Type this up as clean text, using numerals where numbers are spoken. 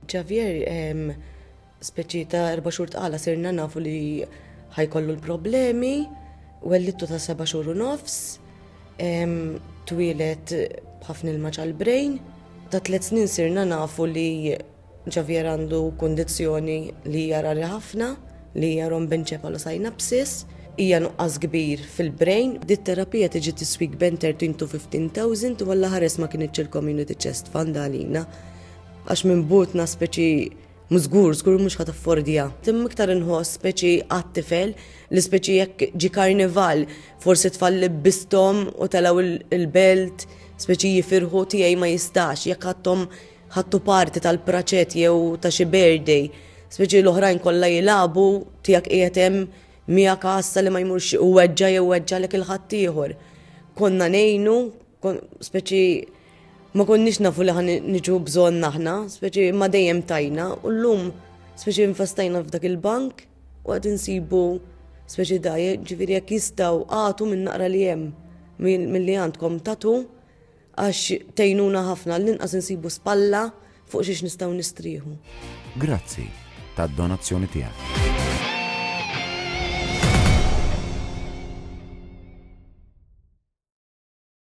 Javier speċi ta' erba' xhur tqala sirna nafu li ħa jkollu l-problemi, wellidtu ta' seba' xhur u nofs, twieled b'ħafna ilma ġal-brain. Ta' tliet snin sirna nafu li Javier għandu kundizzjoni li hija rari ħafna, li hija rhombencephalosynapsis, hija nuqqas kbir fil-brain. Dit terapija tiġi tiswik bejn 13 to 15,000 u Alla ħares ma kinitx il-Community Chest Fund għalina. Għax minn butna speċi żgur, żgur mhux ħa taffordja. Imma iktar inħoss speċi għat-tifel li speċi jekk ġi karnival, forsi tfal li bistom u telgħu il-belt, speċi jifirħu tiegħi ma jistax, jekk ħadthom ħadtu parti tal-praċet jew ta' xi birthday, speċi l-oħrajn kollha jilagħbu tiegħek qiegħed hemm miegħek għassa li ma jmurx u weġġa' jew weġġalek il-ħaddieħor. Konna ngħinu, speċi ma konniex nafu li ħa niġu bżonn aħna, speċi ma dejjem tajna, u llum speċi infestajna f'dak il-bank u qed insibu speċi da, ġifieri jekk jistgħu agħtu minn naqra li hemm milli għandkom tatu għax tgħinuna ħafna l-inqas insibu spalla fuq xiex nistgħu nistrieħu. Grazzi tad-donazzjoni tiegħek.